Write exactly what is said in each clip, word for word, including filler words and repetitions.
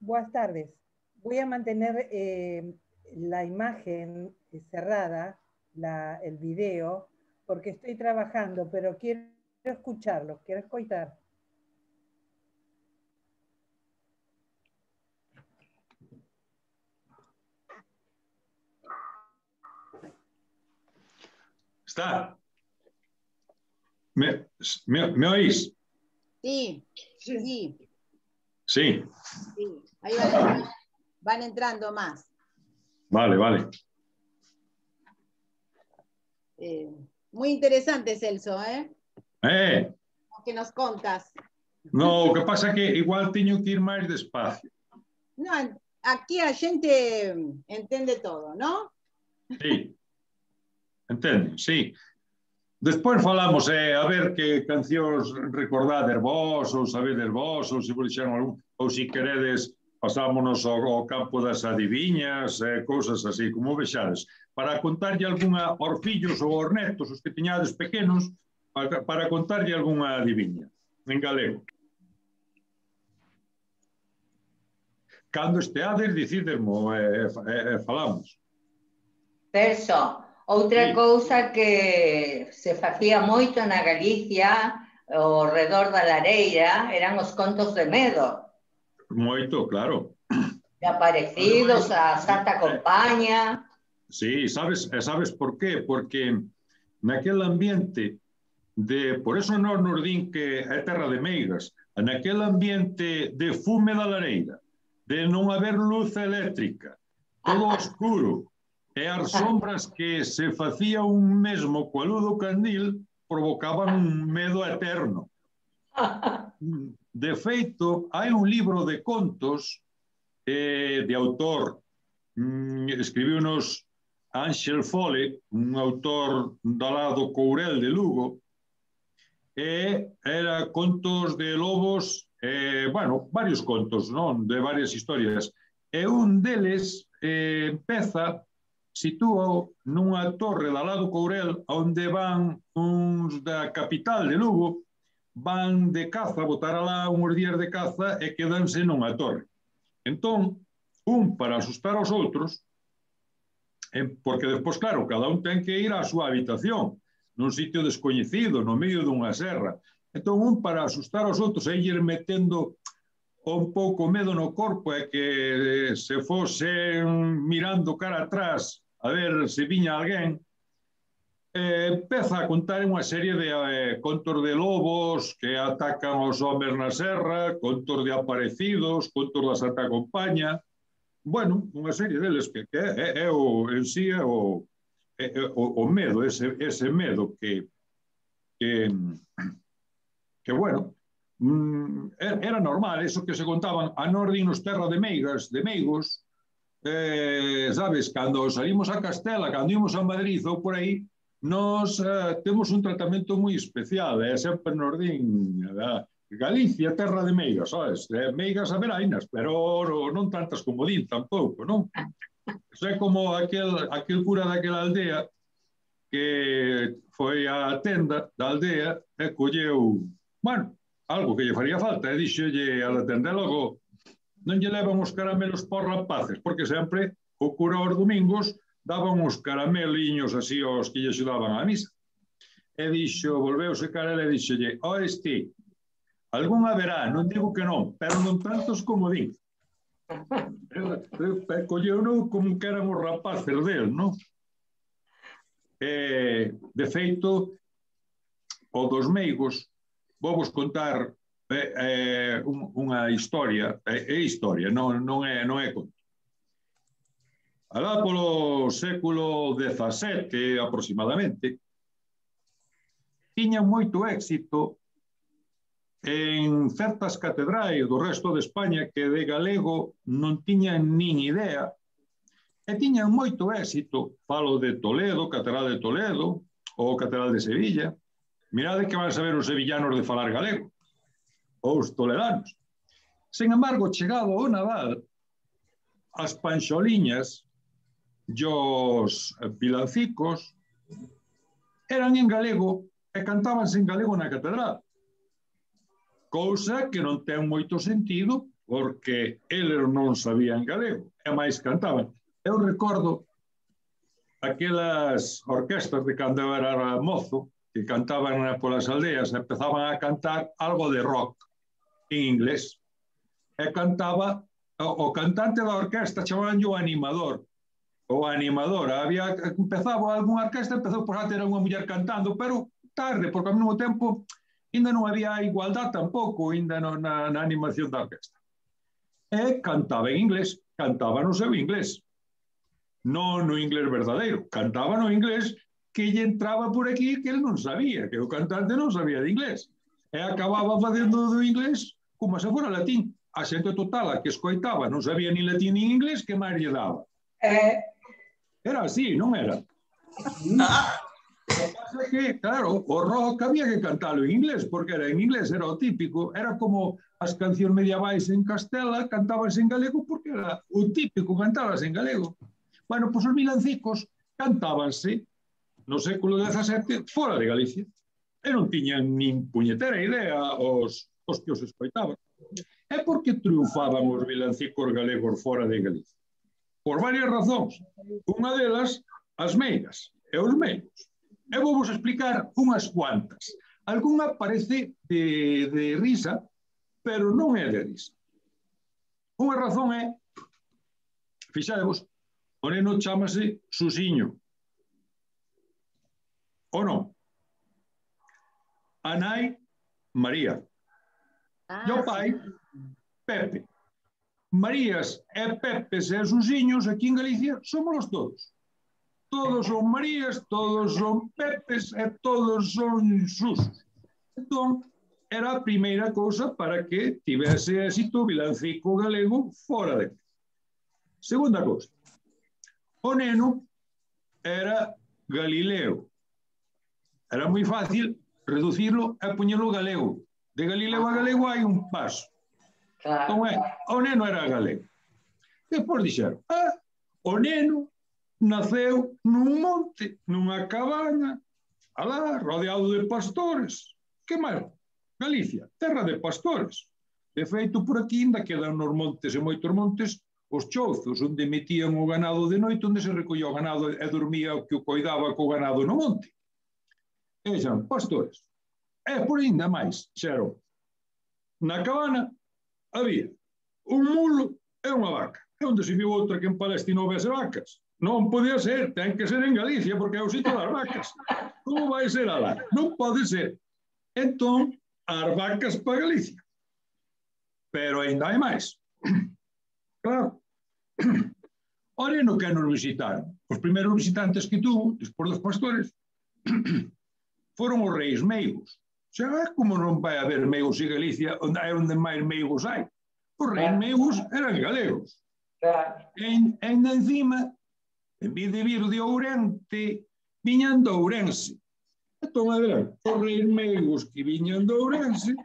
Buenas tardes. Voy a mantener eh, la imagen cerrada, la, el video, porque estoy trabajando, pero quiero escucharlo, quiero escuchar. ¿Está? ¿Me, me, ¿me oís? Sí, sí. Sí. Sí. Ahí van entrando, van entrando más. Vale, vale. Eh, muy interesante, Celso, ¿eh? Eh. Lo que nos contas. No, o que pasa é que igual teño que ir máis despacio. No, aquí a xente entende todo, ¿no? Sí. Entende, sí. Despois falamos, eh, a ver que cancións recordades vos, ou sabedes vos, ou se vos dixeron algún, ou se queredes pasámonos ao, ao campo das adiviñas, eh, cousas así, como vexades, para contarlle algunha aos fillos ou aos netos, os que tiñades pequenos, para, para contarlle algunha adiviña, en galego. Cando esteades, dicidesmo, e eh, eh, eh, falamos. Celso, outra Sí. cousa que se facía moito na Galicia, ao redor da lareira, eran os contos de medo. Moito, claro. De aparecidos, a Santa Compaña. Sí, sabes, sabes por qué? Porque naquel ambiente de, por eso non nos din que é terra de meigas, naquel ambiente de fume da lareira, de non haber luz eléctrica, todo oscuro, e as sombras que se facía un mesmo coa luz do candil provocaban un medo eterno. De feito, hai un libro de contos eh, de autor, mm, escribiu unos Ángel Fole, un autor do lado Courel de Lugo, e era contos de lobos, eh, bueno, varios contos, non? De varias historias. E un deles eh, empeza, sitúa nunha torre da lado Courel, onde van uns da capital de Lugo, van de caza, botar alá uns días de caza e quedanse nunha torre. Entón, un para asustar aos outros, porque despois, claro, cada un ten que ir á súa habitación, nun sitio descoñecido, no medio dunha serra. Entón, un para asustar aos outros e ir metendo un pouco medo no corpo e que se fosen mirando cara atrás a ver se viña alguén, eh, empeza a contar unha serie de eh, contos de lobos que atacan os homes na serra, contos de aparecidos, contos da Santa Compaña, bueno, unha serie deles que, que é, é o, en sí é o, é, é o, o medo, ese, ese medo que, que, que bueno, era normal, eso que se contaban a Nordinos terra de meigas, de meigos, eh, sabes, cando salimos a Castela, cando ímos a Madrid ou por aí, nos eh, temos un tratamento moi especial, é eh, sempre nos din, eh, Galicia, terra de meigas, sabes? Eh, meigas averainas, pero non tantas como din tampouco, non? Eso é como aquel, aquel cura daquela aldea que foi á tenda da aldea e colleu, bueno, algo que lle faría falta, e dixolle a la tenda, logo non lle levan os caramelos por rapaces, porque sempre o cura aos domingos daban uns carameliños así aos que lle axudaban á misa. E dixo, volveuse cara e dixolle, ó este, algún haberá, non digo que non, pero non tantos como din. Colleu non como que eran os rapaces del, non? Eh, de feito, o dos meigos, vou vos contar eh, eh, un, unha historia, é eh, historia, non, non, é, non é conto. Alá polo século dezasete, aproximadamente, tiña moito éxito en certas catedrais do resto de España que de galego non tiñan nin idea, e tiñan moito éxito, falo de Toledo, Catedral de Toledo, ou Catedral de Sevilla. Mirade que van saber os sevillanos de falar galego, ou os toledanos. Sen embargo, chegado ao Nadal, as panxoliñas e os vilancicos eran en galego e cantábanse en galego na catedral. Cousa que non ten moito sentido, porque eles non sabían galego, e máis cantaban. Eu recordo aquelas orquestas de cando eu era mozo, que cantaban polas aldeas, empezaban a cantar algo de rock en inglés. E cantaba, o, o cantante da orquesta chamaban o animador, ou animadora. Había, empezaba algunha orquesta, empezou por a ter unha muller cantando, pero tarde, porque ao mesmo tempo ainda non había igualdad tampouco, ainda no, na, na animación da orquesta. E cantaba en inglés, cantaba no seu inglés. Non no inglés verdadeiro, cantaba no inglés que lle entraba por aquí que ele non sabía, que o cantante non sabía de inglés. E acababa facendo do inglés como se fora latín. A xente total a que escoitaba non sabía ni latín ni inglés, que máis lle daba. Eh, Era así, non era? O que pasa é que, claro, o rock había que cantalo en inglés, porque era en inglés, era o típico, era como as cancións medievais en Castela, cantábanse en galego porque era o típico, cantábanse en galego. Bueno, pois os vilancicos cantábanse no século dezasete fora de Galicia. E non tiñan nin puñetera idea os, os que os escoitaban. É porque triunfaban os vilancicos galegos fora de Galicia. Por varias razóns. Unha delas, as meigas e os meigos. E vou vos explicar unhas cuantas. Algúna parece de, de risa, pero non é de risa. Unha razón é, fixadevos, o neno chámase Susiño. Ou non? A nai, María. Ah, E o pai, Pepe. Marías e Pepes e Susiños aquí en Galicia somos todos. Todos son Marías, todos son Pepes e todos son Susos. Entón, era a primeira cousa para que tivese éxito o vilancico galego fora de aquí. Segunda cousa. O neno era Galileo. Era moi fácil reducirlo e poñelo galego. De Galileo a galego hai un paso. claro. Entón, é, o neno era galego. Depois dixeron, ah, o neno naceu nun monte, nunha cabana, alá, rodeado de pastores. Que máis? Galicia, terra de pastores. De feito, por aquí ainda quedan nos montes e moitos montes os chouzos, onde metían o ganado de noite, onde se recollía o ganado e dormía o que o coidaba co ganado no monte. E xan, pastores. E por ainda máis, xeron, na cabana había un mulo e unha vaca. E onde se viu outra que en Palestina houvese vacas? Non podía ser, ten que ser en Galicia, porque é o sitio das vacas. Como vai ser alá? Non pode ser. Entón, as vacas para Galicia. Pero ainda hai máis. Claro. O neno que nos visitaron, os primeiros visitantes que tuvo, despois dos pastores, foron os reis meigos. Xa, como non vai haber meigos en Galicia, onde é onde máis meigos hai? Os reis meigos eran galegos. Claro. E ainda encima, en vez de vir de Ourente, viñan de Ourense. Entón, eran os reis meigos que viñan de Ourense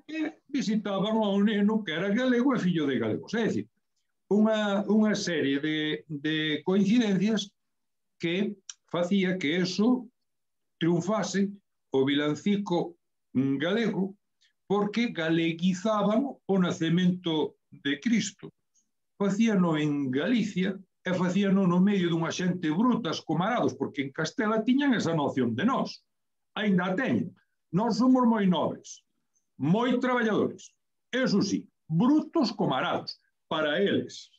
e visitaban ao neno que era galego e fillo de galegos. É dicir, unha, unha serie de, de coincidencias que facía que eso triunfase o vilancico galego porque galeguizaban o nacemento de Cristo. Facíano en Galicia e facíano no medio dunha xente brutas, comarados, porque en Castela tiñan esa noción de nós. Ainda a teñen. Nós somos moi nobres, moi traballadores. Eso sí, brutos comarados. Para eles.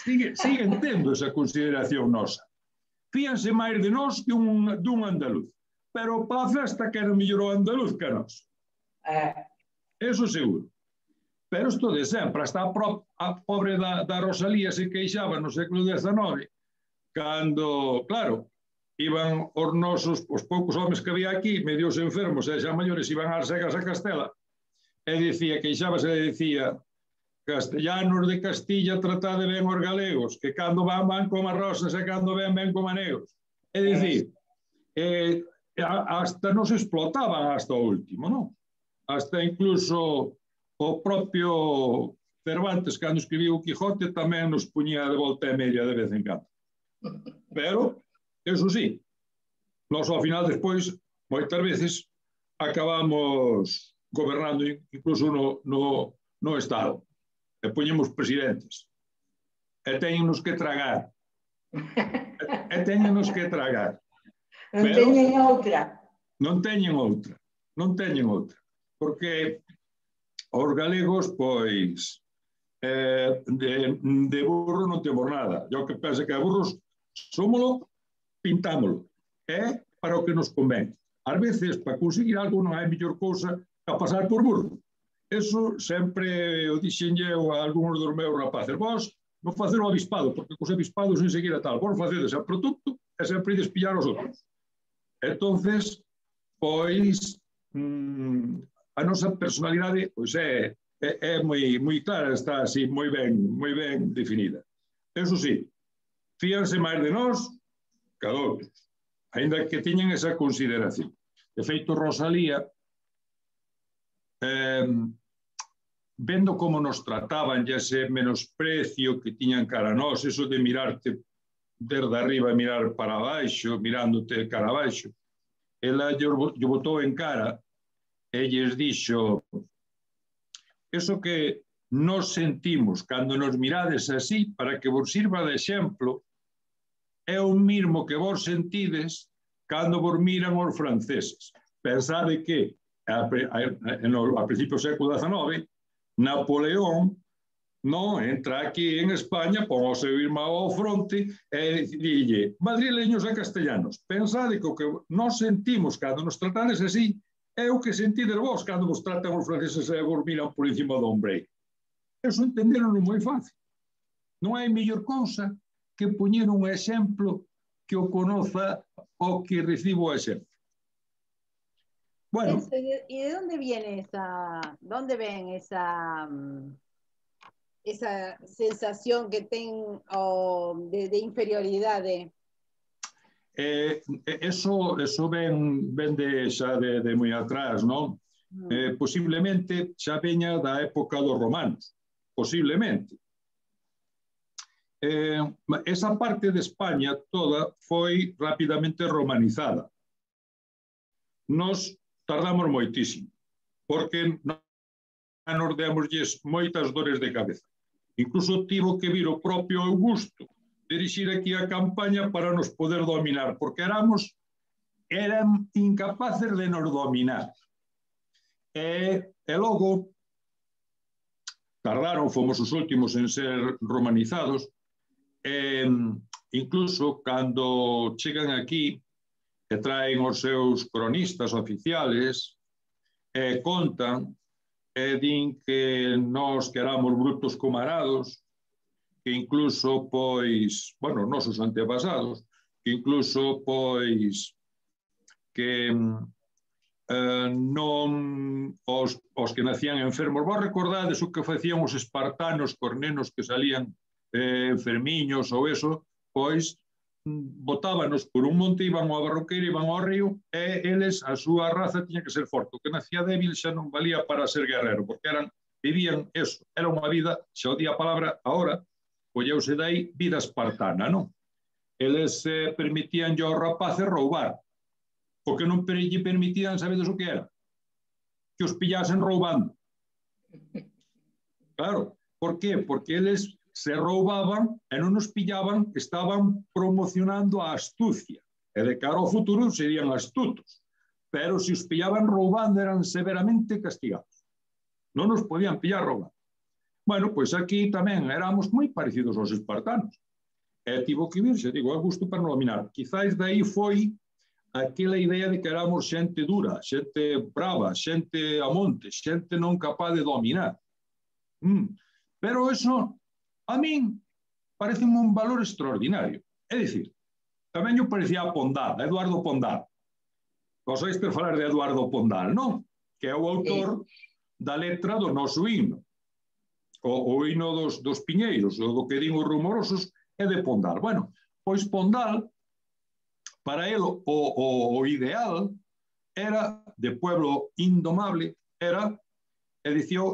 Sigue, siguen tendo esa consideración nosa. Fíanse máis de nós que un, dun andaluz. Pero para a festa quero mellor o andaluz que nós. Eh. Eso seguro. Pero isto de sempre, hasta a, pro, a pobre da, da Rosalía se queixaba no século dezenove, cando, claro, iban os nosos, os poucos homes que había aquí, medios enfermos e xa maiores, iban ás segas a Castela, e dicía, queixábase e dicía, castellanos de Castilla tratade ben os galegos, que cando van van como rosas e cando ven ven como negros. É dicir, eh, hasta nos explotaban hasta o último, non? Hasta incluso o propio Cervantes, cando escribiu o Quijote, tamén nos puñía de volta e media de vez en cando. Pero, eso sí, nós ao final despois, moitas veces, acabamos gobernando incluso no, no, no Estado. e poñemos presidentes. E teñenos que tragar. E teñenos que tragar. Non teñen outra. Non teñen outra. Non teñen outra. Porque os galegos, pois, eh, de, de burro non temos nada. Eu que penso que a burros somolo, pintámolo. É para o que nos convén. Ás veces, para conseguir algo, non hai mellor cousa que a pasar por burro. Eso sempre o dixenlle a algúns dos meus rapaces. Vos non facer o avispado, porque cos avispados enseguida tal. Vos facedes a produto e sempre despillar os outros. Entonces, pois, mmm, a nosa personalidade pois é, é, é moi, moi clara, está así moi ben, moi ben definida. Eso sí, fíanse máis de nós que a outros, ainda que tiñan esa consideración. De feito, Rosalía, eh, vendo como nos trataban, ya ese menosprecio que tiñan cara a nós, eso de mirarte desde arriba e mirar para baixo, mirándote cara a baixo, ela lle botou en cara e lles dixo: eso que nos sentimos cando nos mirades así, para que vos sirva de exemplo, é o mismo que vos sentides cando vos miran os franceses. Pensade que a, a, a, no, a principios do século dezenove, Napoleón no entra aquí en España, pon o seu irmão ao fronte e dille: madrileños e castellanos, pensade que o que nos sentimos cando nos tratades así é o que sentides vos cando vos tratan os franceses e vos miran por encima do ombreiro. Eso entenderon moi fácil. Non hai mellor cousa que poñer un exemplo que o conoza o que recibo o exemplo. Bueno. ¿Y de dónde viene esa, dónde ven esa, esa sensación que ten oh, de, de inferioridad? De... Eh, eso, eso ven, ven de, xa de, de moi atrás, non? Mm. Eh, posiblemente xa veña da época dos romanos, posiblemente. Eh, esa parte de España toda foi rapidamente romanizada. Nos tardamos moitísimo, porque nos demosles moitas dores de cabeza. Incluso tivo que vir o propio Augusto dirixir aquí a campaña para nos poder dominar, porque éramos, eran incapaces de nos dominar. E, e logo, tardaron, fomos os últimos en ser romanizados, e, incluso cando chegan aquí, que traen os seus cronistas oficiales, e contan, e din que nós que éramos brutos comarados, que incluso, pois, bueno, nosos antepasados, que incluso, pois, que eh, non os, os que nacían enfermos. Vos recordades o que facían os espartanos cos nenos que salían eh, enfermiños ou eso, pois, botábanos por un monte, iban ao barroqueiro, iban ao río, e eles, a súa raza, tiña que ser forte. O que nacía débil xa non valía para ser guerrero, porque eran, vivían eso, era unha vida, xa o di a palabra ahora, colleuse dai vida espartana, non? Eles eh, permitían aos rapaces roubar, porque non lle permitían, sabedes o que era? Que os pillasen roubando. Claro, por qué? Porque eles se roubaban e non nos pillaban, estaban promocionando a astucia. E de cara ao futuro serían astutos. Pero se os pillaban roubando eran severamente castigados. Non nos podían pillar roubando. Bueno, pois aquí tamén éramos moi parecidos aos espartanos. E tivo que vir, se digo, a gusto para non dominar. Quizáis dai foi aquela idea de que éramos xente dura, xente brava, xente a monte, xente non capaz de dominar. Mm. Pero eso, a min, parece un valor extraordinario. É dicir, tamén yo parecía a Pondal, a Eduardo Pondal. Vos oíste falar de Eduardo Pondal, non? Que é o autor da letra do noso himno. O, o himno dos, dos piñeiros, o do que din os rumorosos, é de Pondal. Bueno, pois Pondal, para él o, o, o ideal era, de pueblo indomable, era, e dicía,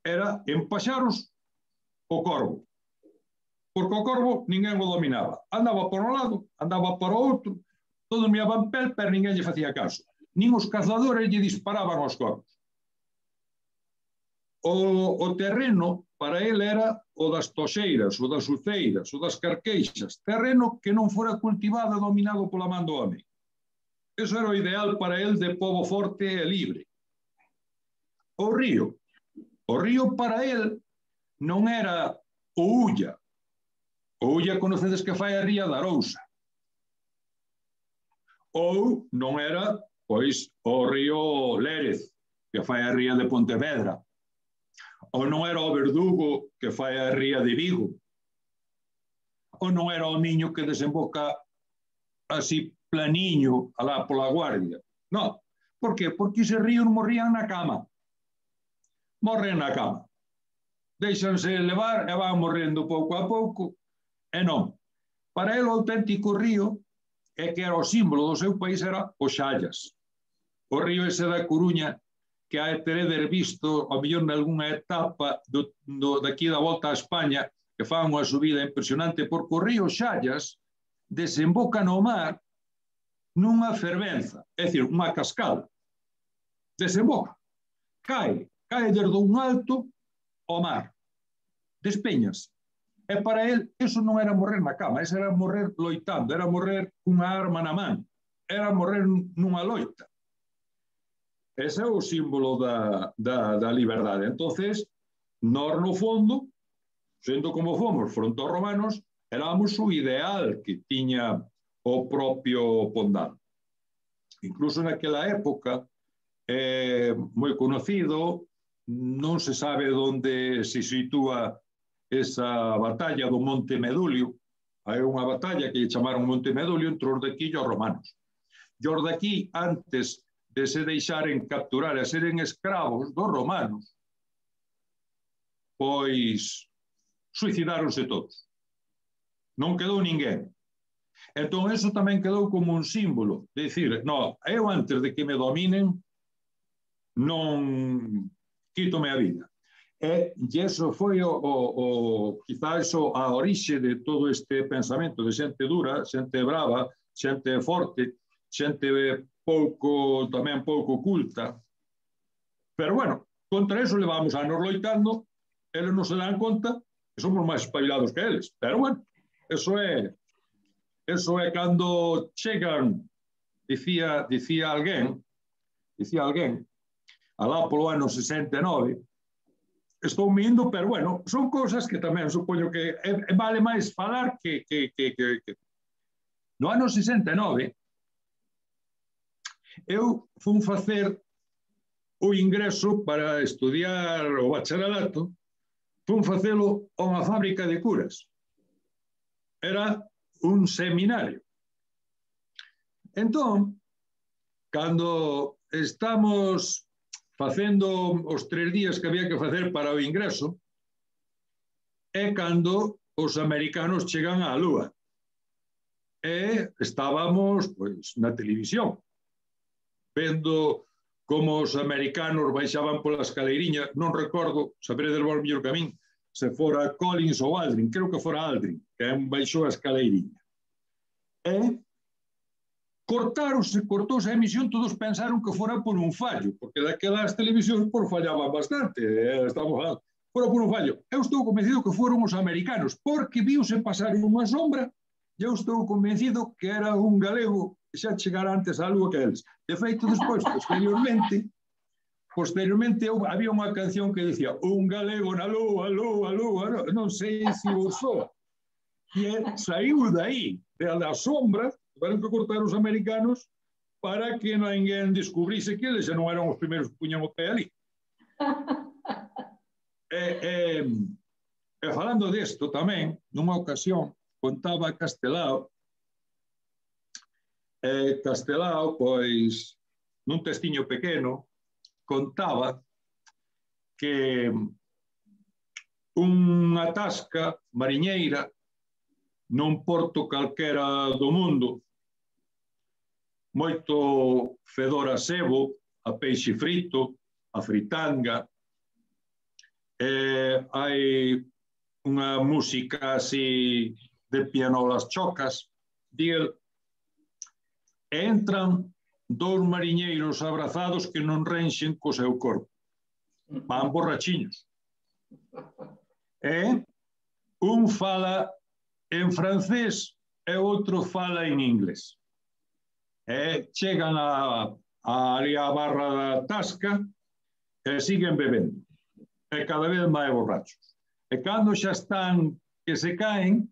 era empaxaros o corvo. Porque o corvo ninguén o dominaba. Andaba por un lado, andaba por outro, todos miaban pel, pero ninguén lle facía caso. Nin os cazadores lle disparaban aos corvos. O, o terreno para ele era o das toxeiras, o das uceiras, o das carqueixas, terreno que non fora cultivado e dominado pola man do home. Eso era o ideal para ele de pobo forte e libre. O río. O río para ele non era o Ulla. O Ulla conocedes que fai a ría da Arousa. Ou non era, pois, o río Lérez, que fai a ría de Pontevedra. Ou non era o Verdugo, que fai a ría de Vigo. Ou non era o Miño que desemboca así planiño alá pola Guardia. Non. Por qué? Porque ese ríos morrían na cama. Morren na cama. Deixanse levar e van morrendo pouco a pouco. E non. Para ele o auténtico río é que era o símbolo do seu país era o Xallas. O río ese da Coruña que hai teredes visto ao mellor nalgúna etapa do, do, daqui da volta a España que fan unha subida impresionante porque o río Xallas desemboca no mar nunha fervenza, é dicir, unha cascada. Desemboca. Cae. Cae desde un alto ao mar. Despeñas. E para ele, eso non era morrer na cama, eso era morrer loitando, era morrer cunha arma na man, era morrer nunha loita. Ese é o símbolo da, da, da liberdade. Entonces, nós no fondo, sendo como fomos fronte aos romanos, éramos o ideal que tiña o propio Pondal. Incluso naquela época, é moi conocido, non se sabe onde se sitúa esa batalla do Monte Medulio. Hai unha batalla que lle chamaron Monte Medulio entre os de aquí e os romanos. E os de aquí, antes de se deixaren capturar e seren escravos dos romanos, pois suicidáronse todos. Non quedou ninguén. Entón, eso tamén quedou como un símbolo de dicir, no, eu antes de que me dominen non quítome a vida. E, e eso foi o, o, o quizá eso a orixe de todo este pensamento de xente dura, xente brava, xente forte, xente pouco, tamén pouco culta. Pero bueno, contra eso levamos anos loitando, eles non se dan conta que somos máis espabilados que eles. Pero bueno, eso é eso é cando chegan, dicía, dicía alguén, dicía alguén, alá polo ano sesenta e nove, estou mindo, pero bueno, son cousas que tamén supoño que é, é vale máis falar que, que, que, que, que... No ano sesenta e nove, eu fun facer o ingreso para estudiar o bacharelato, fun facelo a unha fábrica de curas. Era un seminario. Entón, cando estamos facendo os tres días que había que facer para o ingreso, é cando os americanos chegan á Lúa. E estábamos, pois, na televisión, vendo como os americanos baixaban pola escaleiriña, non recordo, saberedes vos mellor que a min, se fora Collins ou Aldrin, creo que fora Aldrin, que baixou a escaleiriña. E cortaronse, cortouse a emisión, todos pensaron que fora por un fallo, porque daquelas televisións por fallaban bastante, eh, estamos falando, fora por un fallo. Eu estou convencido que foron os americanos, porque viuse pasar unha sombra, e eu estou convencido que era un galego que xa chegara antes á Lúa que eles. De feito, despois, posteriormente, posteriormente había unha canción que dicía un galego na Lúa, Lúa, Lúa, non sei se o soa. E saiu dai, da sombra, tiveron que cortar os americanos para que ninguén descubrise que eles xa non eran os primeiros que puñan o pé ali. e, e, e falando desto tamén, nunha ocasión, contaba Castelao, e Castelao, pois, nun testiño pequeno, contaba que unha tasca mariñeira nun porto calquera do mundo, moito fedor a sebo, a peixe frito, a fritanga, e hai unha música así de pianolas chocas, díel, e entran dous mariñeiros abrazados que non renxen co seu corpo. Van borrachiños. E un fala en francés e outro fala en inglés. E chegan a, a, ali a barra da tasca e siguen bebendo. E cada vez máis borrachos. E cando xa están que se caen,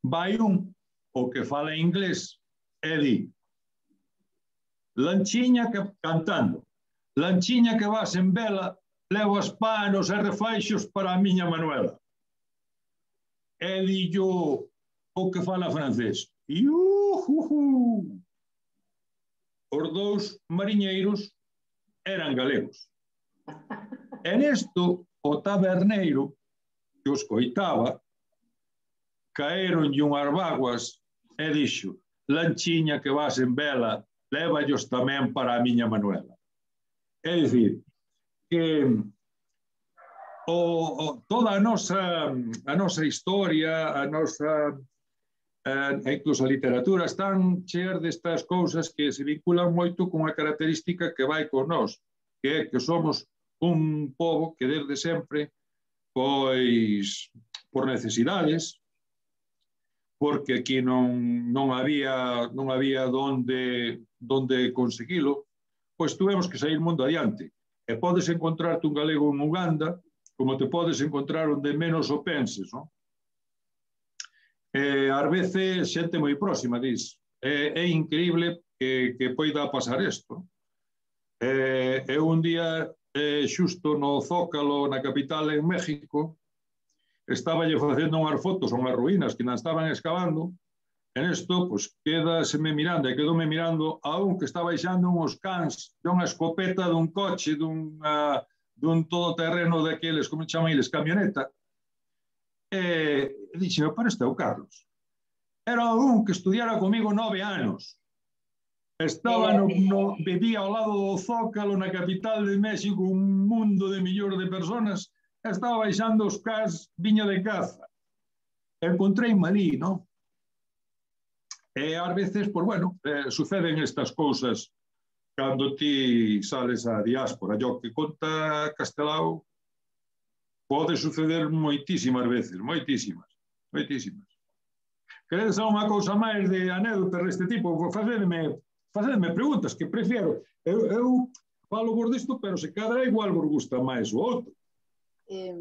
vai un, o que fala en inglés, e di, Lanchiña que, cantando, Lanchiña que vas en vela, levo as panos e refaixos para a miña Manuela. E dillo o que fala francés. Iuhuhu. Os dous mariñeiros eran galegos. E nesto, o taberneiro que os coitaba, caeronlle unhas vaguas e dixo, Lanchiña que vas en vela, lévallos tamén para a miña Manuela. É dicir, que o, o, toda a nosa, a nosa historia, a nosa, eh, incluso a literatura, están cheas destas cousas que se vinculan moito con a característica que vai con nós, que é que somos un pobo que desde sempre, pois, por necesidades, porque aquí non, non había, non había donde, donde conseguilo, pois tuvemos que sair mundo adiante. E podes encontrarte un galego en Uganda, como te podes encontrar onde menos o penses, non? E, ás veces, xente moi próxima, dis, é, é increíble que, que poida pasar isto. E, e un día, eh, xusto no Zócalo, na capital, en México, estaba lle facendo unhas fotos a unhas ruínas que non estaban excavando. En isto, pois, quedaseme mirando, e quedoume mirando a un que está baixando uns cans de unha escopeta dun coche, dun, uh, dun todoterreno daqueles, como chaman eles, camioneta. E, e dixeme, pero este é o Carlos. Era un que estudiara comigo nove anos. Estaba no, no, vivía ao lado do Zócalo, na capital de México, un mundo de millóns de personas, e estaba baixando os cans, viña de caza. Encontrei malí, non? E ás veces, pois bueno, eh, suceden estas cousas cando ti sales á diáspora. Yo que conta Castelao pode suceder moitísimas veces, moitísimas, moitísimas. Queredes unha cousa máis de anécdotas deste tipo? Facedme, facedme preguntas, que prefiero. Eu, eu falo vos disto, pero se cadra igual vos gusta máis o outro. Eh,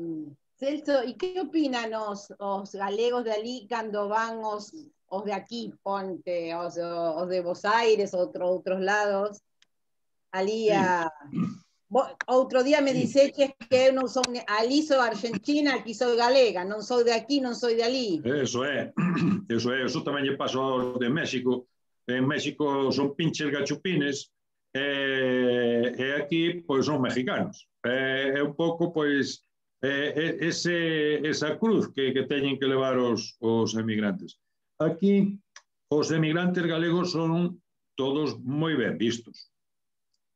Celso, ¿y qué opinan os, os galegos de ali cando van os os de aquí, ponte, os, os de Buenos Aires, outro, outros lados, ali a... Outro día me dice que eu non son, ali sou argentina, aquí sou galega, non sou de aquí, non sou de ali. Eso é, eso é, eso tamén lle pasa aos de México. En México son pinches gachupines, e, e aquí, pois, son mexicanos. É, é un pouco, pois, é, ese, esa cruz que, que teñen que levar os, os emigrantes. Aquí, os emigrantes galegos son todos moi ben vistos.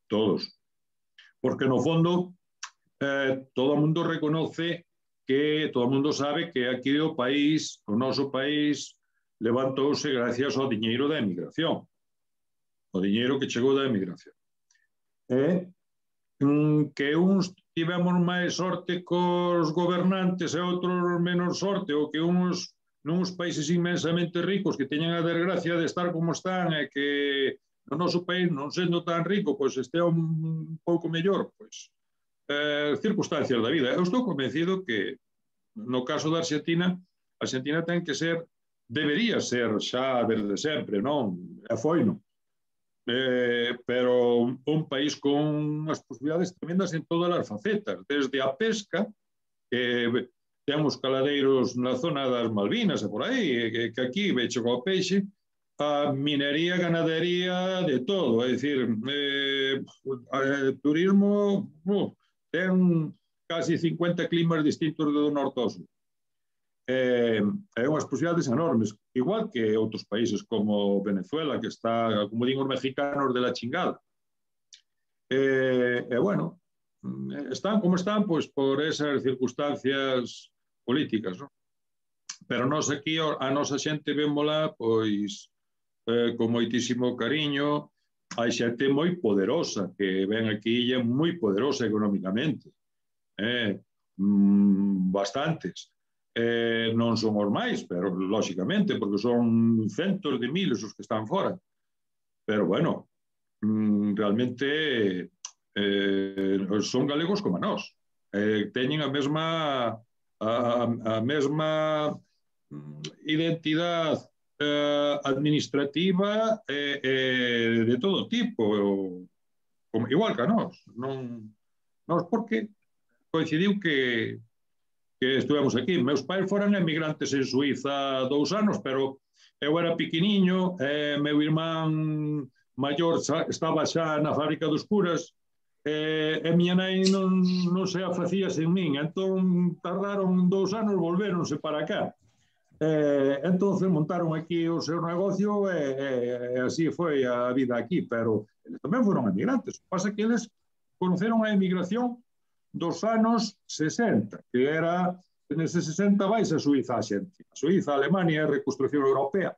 Todos. Porque, no fondo, eh, todo o mundo reconoce que, todo o mundo sabe que aquí o país, o noso país, levantouse gracias ao diñeiro da emigración. O diñeiro que chegou da emigración. E que uns tivemos máis sorte cos gobernantes e outros menos sorte, ou que uns nuns países inmensamente ricos que teñen a desgracia de estar como están e que no noso país, non sendo tan rico, pois este un pouco mellor, pois, eh, circunstancias da vida. Eu estou convencido que no caso da Argentina, a Argentina ten que ser, debería ser xa desde sempre, non? E foi, non? Eh, pero un país con unhas posibilidades tremendas en todas as facetas, desde a pesca, que temos caladeiros na zona das Malvinas e por aí, que, que aquí vecho co peixe, a minería, ganadería, de todo. É dicir, eh, eh, turismo, uh, ten casi cincuenta climas distintos do norte ao sur. Eh, é unhas posibilidades enormes, igual que outros países como Venezuela, que está, como digo, os mexicanos de la chingada. Eh, e, bueno, están como están, pois, por esas circunstancias políticas, non? Pero nós aquí, a nosa xente vémola, pois, eh, con moitísimo cariño. Hai xente moi poderosa que ven aquí e é moi poderosa económicamente. Eh, mm, bastantes. Eh, non son os máis, pero lóxicamente, porque son centos de miles os que están fora. Pero bueno, mm, realmente eh, son galegos como nós. Eh, teñen a mesma a, a mesma identidade eh, administrativa eh, eh, de todo tipo, como, igual que a nós. Non, nós porque coincidiu que que estivemos aquí. Meus pais foran emigrantes en Suiza dous anos, pero eu era pequeniño, eh, meu irmán maior xa, estaba xa na fábrica dos curas, eh, e miña nai non, non se afacía sen min, entón tardaron dous anos, volveronse para cá. Eh, entonces montaron aquí o seu negocio e, e, e así foi a vida aquí, pero eles tamén foron emigrantes. Pasa que eles conoceron a emigración dos anos sesenta, que era, nese sesenta vais a Suiza a xente. A Suiza, a Alemania, a reconstrucción europea.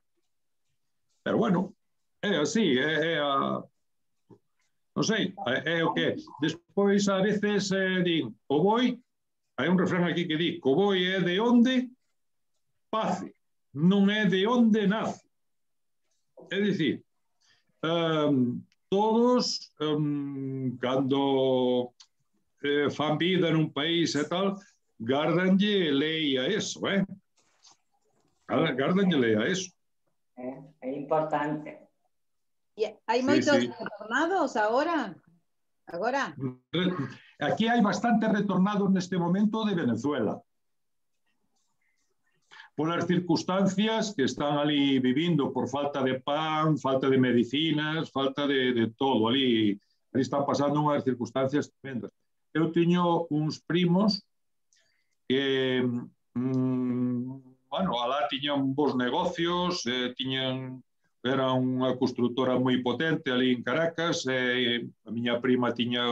Pero bueno, é así, é, é a... non sei, é, é o que é. Despois, a veces, eh, din, o boi, hai un refrán aquí que di, o boi é de onde pace, non é de onde nace. É dicir, um, todos, um, cando Eh, fan vida nun país e tal, gardanlle lei a eso, eh? Gardanlle lei a eso. É, é importante. E hai Sí, moitos sí. retornados agora? Agora? Aquí hai bastantes retornados neste momento de Venezuela. Polas circunstancias que están ali vivindo por falta de pan, falta de medicinas, falta de, de todo. Ali, ali están pasando unhas circunstancias tremendas. Eu tiño uns primos que, mm, bueno, alá tiñan bons negocios, eh, tiñan, era unha constructora moi potente ali en Caracas, eh, a miña prima tiña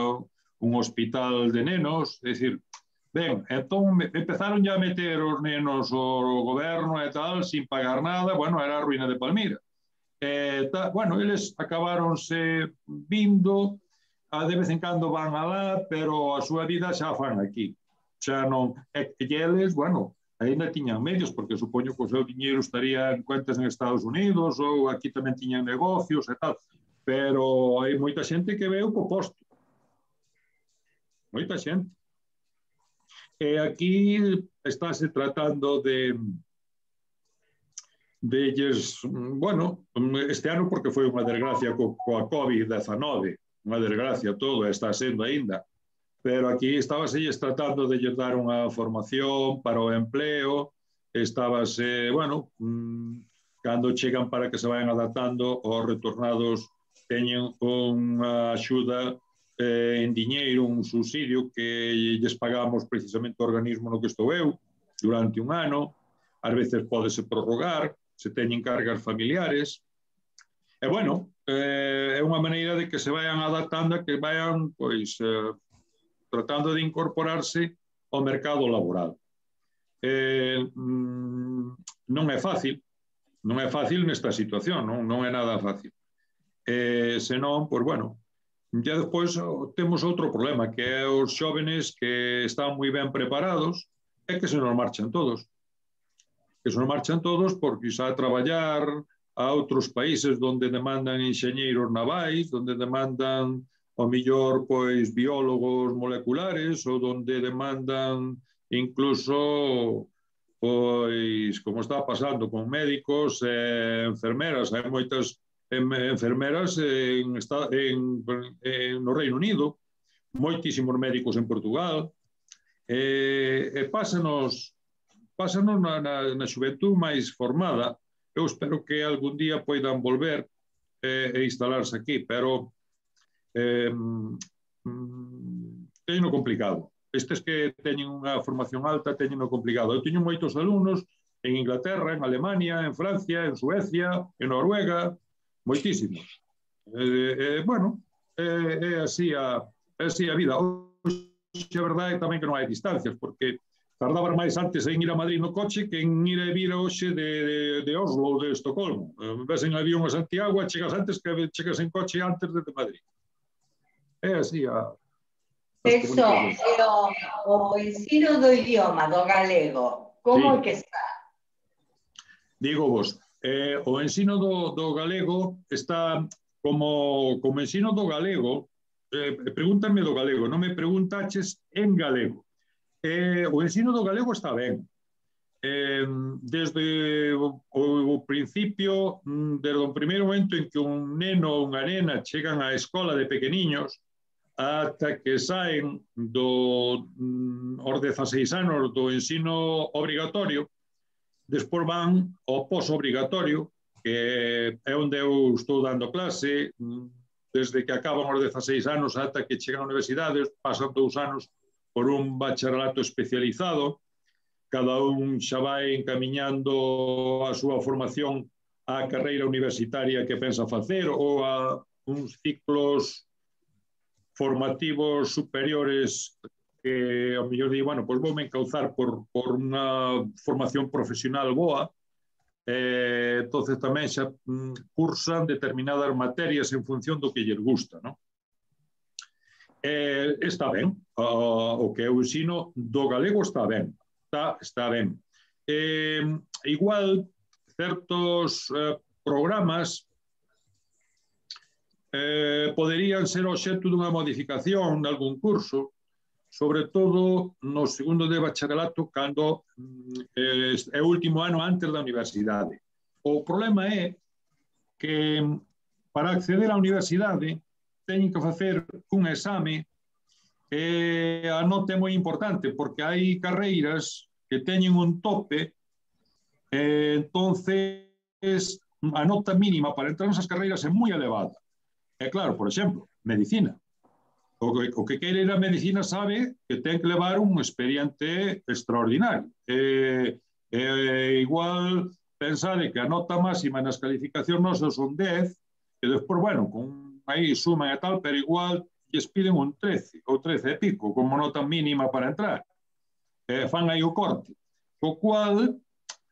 un hospital de nenos, é dicir, ben, entón empezaron ya a meter os nenos o goberno e tal, sin pagar nada, bueno, era a ruína de Palmira. Eh, ta, bueno, eles acabaronse vindo, a de vez en cando van alá, pero a súa vida xa fan aquí. Xa non, e, e eles, bueno, ainda tiñan medios, porque supoño que o seu diñeiro estaría en cuentas en Estados Unidos, ou aquí tamén tiñan negocios e tal, pero hai moita xente que veu co posto. Moita xente. E aquí estáse tratando de delles, bueno, este ano porque foi unha desgracia co, coa COVID diecinueve, unha desgracia todo, está sendo aínda, pero aquí estábase tratando de lles dar unha formación para o empleo, estábase, bueno, mmm, cando chegan para que se vayan adaptando, os retornados teñen unha axuda eh, en diñeiro, un subsidio que lles pagamos precisamente o organismo no que estou eu, durante un ano, ás veces pódese prorrogar, se teñen cargas familiares, e bueno, eh, é unha maneira de que se vayan adaptando, que vayan, pois, eh, tratando de incorporarse ao mercado laboral. Eh, mm, non é fácil, non é fácil nesta situación, non, non é nada fácil. Eh, senón, pois, bueno, ya despois temos outro problema, que é os xóvenes que están moi ben preparados e que se nos marchan todos. Que se nos marchan todos porque xa a traballar a outros países onde demandan enxeñeiros navais, onde demandan o millor pois biólogos moleculares ou onde demandan incluso pois como está pasando con médicos e enfermeras. Hai moitas enfermeras en, en, en no Reino Unido, moitísimos médicos en Portugal, e, e pásanos, pásanos na, na, na xuventud máis formada. Eu espero que algún día poidan volver eh, e instalarse aquí, pero eh, mm, teñen complicado. Estes que teñen unha formación alta teñen complicado. Eu teño moitos alumnos en Inglaterra, en Alemania, en Francia, en Suecia, en Noruega, moitísimos. Eh, eh, bueno, é eh, así, a, así a vida. Hoxe a verdade tamén que non hai distancias, porque tardabas máis antes en ir a Madrid no coche que en ir a vir hoxe de, de, de Oslo ou de Estocolmo. Ves en avión a Santiago e chegas antes que chegas en coche antes de Madrid. É así a... Eso, o, o ensino do idioma do galego, como é que está? Digo vos, eh, o ensino do, do galego está como, como ensino do galego, eh, pregúntame do galego, non me preguntaches en galego. Eh, o ensino do galego está ben. Eh, desde o, o principio, desde o primeiro momento en que un neno ou unha nena chegan á escola de pequeniños, ata que saen do, os dezaseis anos do ensino obrigatorio, despois van ao posobrigatorio, que é onde eu estou dando clase, desde que acaban os dezaseis anos ata que chegan á universidade, pasan dous anos por un bacharelato especializado, cada un xa vai encamiñando a súa formación á carreira universitaria que pensa facer ou a uns ciclos formativos superiores que ao mellor di, bueno, pois voume encauzar por, por unha formación profesional boa, eh, entonces tamén xa mm, cursan determinadas materias en función do que lles gusta, non? Eh, está ben, uh, o que é o ensino do galego está ben, está, está ben. Eh, igual, certos eh, programas eh, poderían ser obxecto dunha modificación de algún curso, sobre todo no segundo de bacharelato, cando eh, é o último ano antes da universidade. O problema é que para acceder á universidade teñen que facer un exame e a nota é moi importante porque hai carreiras que teñen un tope e entonces a nota mínima para entrar nesas carreiras é moi elevada. É claro, por exemplo, medicina. O que, o que quere ir a medicina sabe que ten que levar un expediente extraordinario. E, e igual pensade que a nota máxima nas calificacións nosas son dez e despois, bueno, con aí suman e tal, pero igual lles piden un trece ou trece e pico como nota mínima para entrar. Eh, fan aí o corte. O cual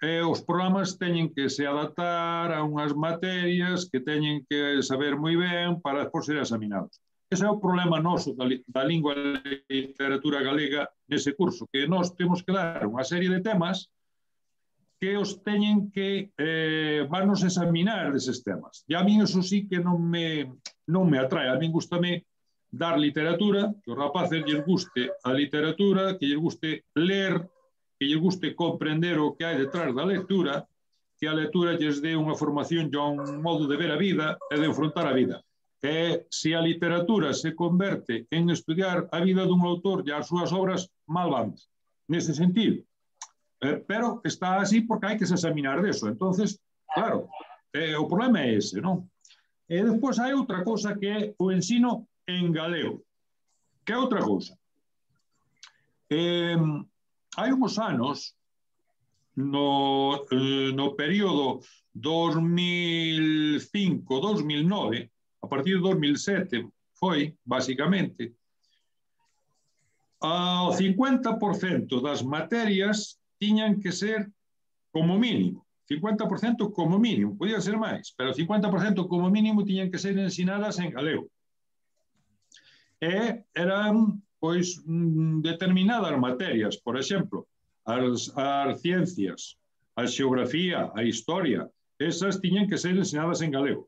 eh, os programas teñen que se adaptar a unhas materias que teñen que saber moi ben para despois ser examinados. Ese é o problema noso da, da lingua e literatura galega nese curso, que nós temos que dar unha serie de temas que os teñen que eh, vanos examinar deses temas. E a mí eso sí que non me, non me atrae. A mí gustame dar literatura, que os rapaces lles guste a literatura, que lles guste ler, que lles guste comprender o que hai detrás da lectura, que a lectura lles dé unha formación e un modo de ver a vida e de enfrontar a vida. E se a literatura se converte en estudiar a vida dun autor e as súas obras, mal vamos. Nese sentido. Eh, pero está así porque hai que se examinar deso. Entonces, claro, eh, o problema é ese, non? E despois hai outra cousa que é o ensino en galego. Que é outra cousa? Eh, hai uns anos, no, eh, no período dos mil cinco dos mil nove, a partir de dos mil sete, foi, basicamente, ao cincuenta por cento das materias tiñan que ser como mínimo, cincuenta por cento como mínimo, podía ser máis, pero cincuenta por cento como mínimo tiñan que ser ensinadas en galego. E eran, pois, determinadas materias, por exemplo, as, as ciencias, a xeografía, a historia, esas tiñan que ser ensinadas en galego.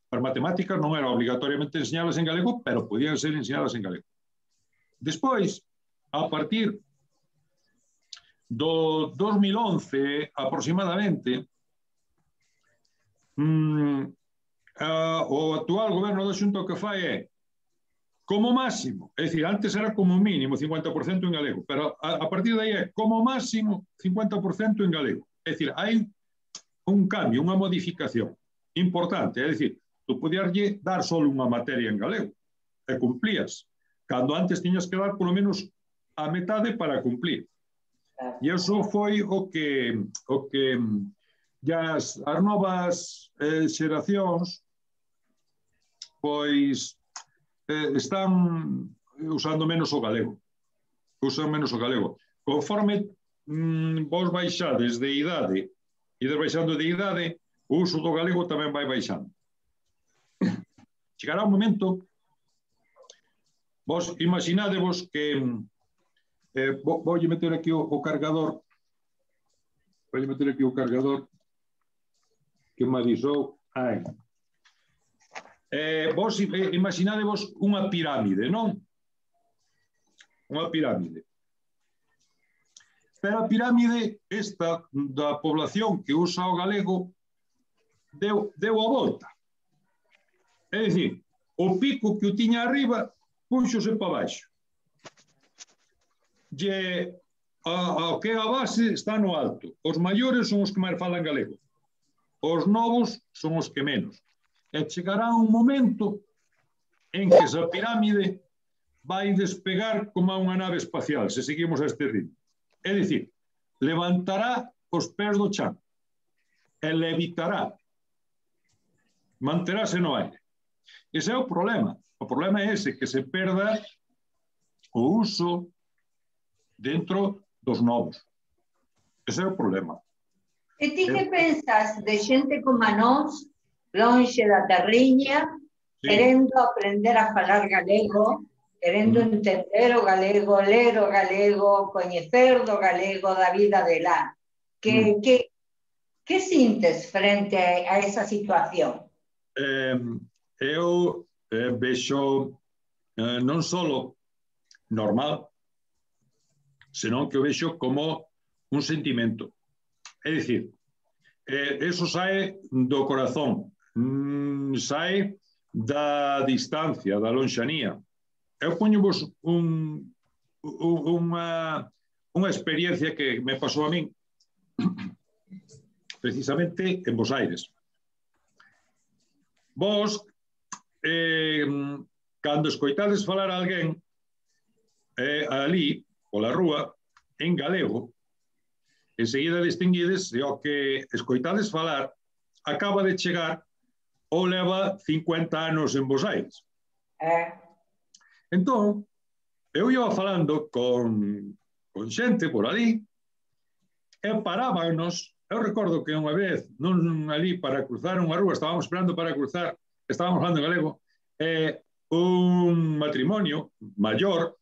As matemáticas non eran obligatoriamente ensinadas en galego, pero podían ser ensinadas en galego. Despois, a partir do dos mil once aproximadamente, mmm, uh, o actual goberno da Xunta o que fai é como máximo, é dicir, antes era como mínimo cincuenta por cento en galego, pero a, a partir de aí é como máximo cincuenta por cento en galego. É dicir, hai un cambio, unha modificación importante, é dicir, tú podías dar só unha materia en galego e cumplías, cando antes tiñas que dar polo menos a metade para cumplir. E iso foi o que, o que as, as novas eh, xeracións pois eh, están usando menos o galego. Usan menos o galego. Conforme mm, vos baixades de idade, ides baixando de idade, o uso do galego tamén vai baixando. Chegará un momento, vos imaginadevos que eh, vou meter aquí o, o cargador, vou meter aquí o cargador que me avisou. Ai. Eh, vos imaginadevos unha pirámide, non? Unha pirámide. Pero a pirámide esta da población que usa o galego deu, deu a volta. É dicir, o pico que o tiña arriba puxose para baixo. E a, a que a base está no alto. Os maiores son os que máis falan galego. Os novos son os que menos. E chegará un momento en que esa pirámide vai despegar como unha nave espacial, se seguimos a este ritmo. É dicir, levantará os pés do chan e levitará, manterase no aire. Ese é o problema. O problema é ese, que se perda o uso dentro dos novos. Ese é o problema. E ti que pensas de xente como a nós, lonxe da terriña, sí, querendo aprender a falar galego, querendo mm. entender o galego, ler o galego, coñecer do galego, da vida de lá? Que, mm. que, que sintes frente a esa situación? Eh, eu eh, vexo eh, non só normal, senón que o vexo como un sentimento. É dicir, eh, eso sae do corazón, mm, sae da distancia, da lonxanía. Eu poñovos un, un, unha, unha experiencia que me pasou a min precisamente en Bos Aires. Vos, eh, cando escoitades falar a alguén eh, ali, pola rúa, en galego, enseguida distinguides e o que escoitades falar acaba de chegar ou leva cincuenta anos en Bos Aires. Eh. Entón, eu iba falando con, con xente por ali e parábanos. Eu recordo que unha vez, non ali para cruzar unha rúa, estábamos esperando para cruzar, estábamos falando en galego, eh, un matrimonio maior,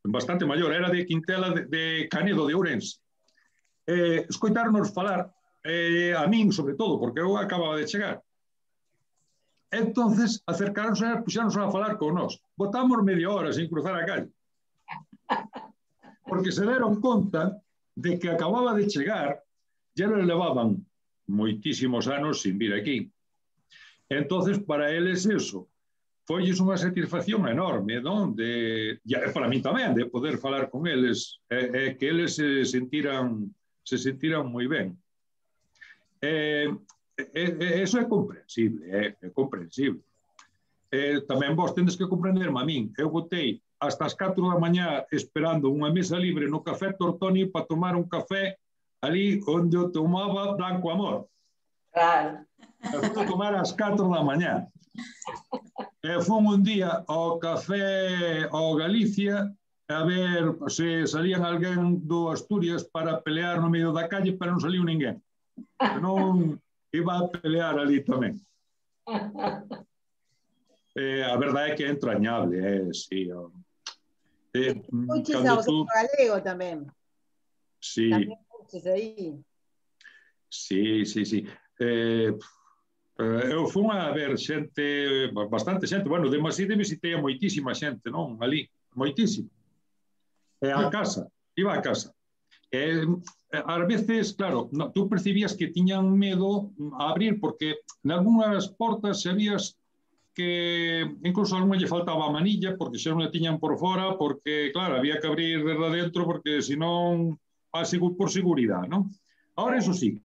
bastante maior, era de Quintela de, de Canedo de Ourense. Eh, escoitarnos falar, eh, a min sobre todo, porque eu acababa de chegar. Entonces, acercaronse e puxáronse a falar con nós. Botamos media hora sin cruzar a calle. Porque se deron conta de que acababa de chegar, ya le levaban moitísimos anos sin vir aquí. Entonces, para eles eso, foilles unha satisfacción enorme, non? De, e para mí tamén, de poder falar con eles, e, e que eles se sentiran, se sentiran moi ben. Eh, eh, eso é comprensible, é, é comprensible. Eh, tamén vos tendes que comprenderme a min. Eu botei hasta as catro da mañá esperando unha mesa libre no Café Tortoni para tomar un café ali onde eu tomaba Blanco Amor. Claro. Eu fui a tomar ás catro da mañá. E fun un día ao Café ao Galicia a ver se salían alguén do Asturias para pelear no medio da calle, pero non saliu ninguén. Non iba a pelear ali tamén. Eh, a verdade é que é entrañable, eh, sí. Oh. Eh, Escuches a vosotros tú... galego tamén. Sí. Tamén escuches aí. Sí, sí, sí. Eh, eu fui a ver xente, bastante xente, bueno, de Maside visitei a moitísima xente, non? Ali, moitísima. E a casa, iba a casa. Eh, ás veces, claro, no, tú percibías que tiñan medo a abrir, porque en algunhas portas sabías que incluso a algún lle faltaba a manilla, porque xa non a tiñan por fora, porque, claro, había que abrir desde adentro, porque senón, por seguridade, non? Ahora, eso sí,